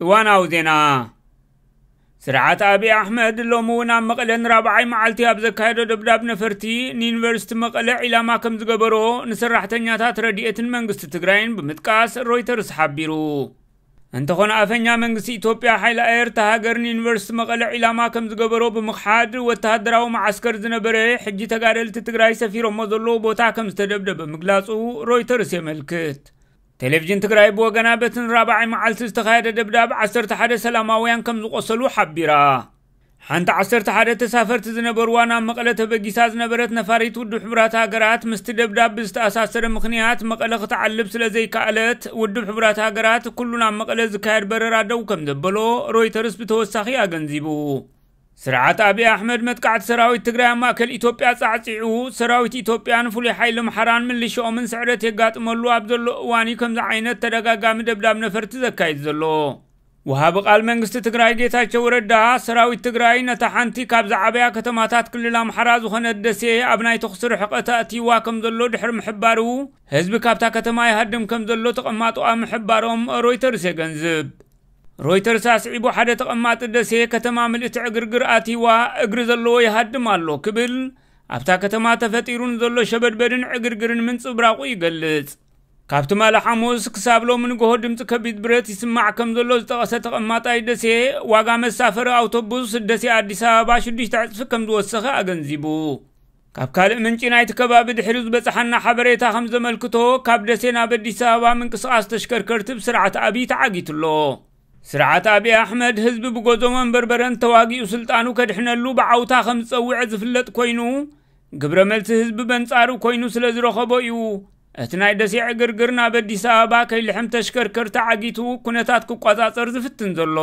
እዋናዊ ዜና። ስርዓት ኣብይ ኣሕመድ ሎሚ እውን ኣብ መቐለ ንራብዓይ መዓልቲ ኣብ ዘካየዶ ደብዳብ ነፈርቲ ንዩኒቨርሲቲ መቐለ ዒላማ ከም ዝገበሮ፣ ንሰራሕተኛታት ረድኤትን መንግስቲ ትግራይን ብምጥቃስ ሮይተርስ ሓቢሩ። እንተኾነ ኣፈኛ መንግስቲ ኢትዮጵያ ሓይሊ ኣየር እታ ሃገር ንዩኒቨርሲቲ መቐለ ዒላማ ከም ዝገበሮ ብምኽሓድ፣ ወተሃደራዊ መዓስከር ዝነበረ ሕጂ ተጋደልቲ ትግራይ ሰፊሮሞ ዘለዉ ቦታ ከም ዝተደብደበ ምግላጹ ሮይተርስ የመልክት። ቴሌቪዥን ትግራይ ብወገና በቲ ንራብዓይ መዓልቲ ዝተኻየደ ደብዳብ ዓሰርተ ሓደ ሰላማውያን ከም ዝቖሰሉ ሓቢራ። ሓንቲ ዓሰርተ ሓደ ተሳፈርቲ ዝነበርዋ ናብ መቐለ ተበጊሳ ዝነበረት ነፋሪት ውድብ ሕቡራት ሃገራት ምስቲ ደብዳብ ብዝተኣሳሰረ ምኽንያት መቐለ ክትዓልብ ስለ ዘይከኣለት፣ ውድብ ሕቡራት ሃገራት ኩሉ ናብ መቐለ ዝካየድ በረራ ደው ከም ዘበሎ ሮይተርስ ብተወሳኺ ኣገንዚቡ። ስርዓት ኣብይ ኣሕመድ መጥቃዕቲ ሰራዊት ትግራይ ኣብ ማእከል ኢትዮጵያ ጻዕጺዑ፣ ሰራዊት ኢትዮጵያን ፍሉይ ሓይሊ ኣምሓራን ምልሽኦምን ስዕረት የጋጥመሉ ኣብ ዘሎ እዋን እዩ ከምዚ ዓይነት ተደጋጋሚ ደብዳብ ነፈርቲ ዘካይድ ዘሎ። ወሃቢ ቃል መንግስቲ ትግራይ ጌታቸው ረዳ፣ ሰራዊት ትግራይ ነታ ሓንቲ ካብ ዝዓበያ ከተማታት ክልል ኣምሓራ ዝኾነት ደሴ ኣብ ናይ ተኹሲ ርሕቀት ኣእትይዋ ከም ዘሎ ድሕሪ ምሕባሩ፣ ህዝቢ ካብታ ከተማ ይሃድም ከም ዘሎ ተቐማጦኣ ምሕባሮም ሮይተርስ የገንዝብ። ሮይተርስ ኣስዒቡ፣ ሓደ ተቐማጢ ደሴ፣ ከተማ ምልእቲ ዕግርግር ኣትይዋ፣ እግሪ ዘለዎ ይሃድም ኣሎ ክብል፣ ኣብታ ከተማ ተፈጢሩ ንዘሎ ሸበድበድን ዕግርግርን ምንጽብራቑ ይገልጽ። ካብ ትማሊ ሓሙስ ክሳብ ሎሚ ንግሆ ድምፂ ከቢድ ብረት ይስማዕ ከም ዘሎ ዝጠቐሰ ተቐማጣይ ደሴ፣ ዋጋ መሳፈሪ ኣውቶቡስ ደሴ ኣዲስ ኣበባ ሽዱሽተ ዕፅፊ ከም ዝወሰኸ ኣገንዚቡ። ካብ ካልእ ምንጪ ናይቲ ከባቢ ድሕሪ ዝበፅሓና ሓበሬታ ከም ዘመልክቶ፣ ካብ ደሴ ናብ ኣዲስ ኣበባ ምንቅስቓስ ተሽከርከርቲ ብስርዓት ኣብይ ተዓጊቱ ኣሎ። ስርዓት ኣብይ ኣሕመድ ህዝቢ ብጎዞ መንበርበረን ተዋጊኡ ስልጣኑ ከድሕነሉ ብዓውታ ከም ዝጸውዐ ዝፍለጥ ኮይኑ፣ ግብረ መልሲ ህዝቢ በንጻሩ ኮይኑ ስለ ዝረኸቦ እዩ እቲ ናይ ደሴ ዕግርግር ናብ ኣዲስ ኣበባ ከይልሕም ተሽከርከርቲ ዓጊቱ ኩነታት ክቆጻጸር ዝፍትን ዘሎ።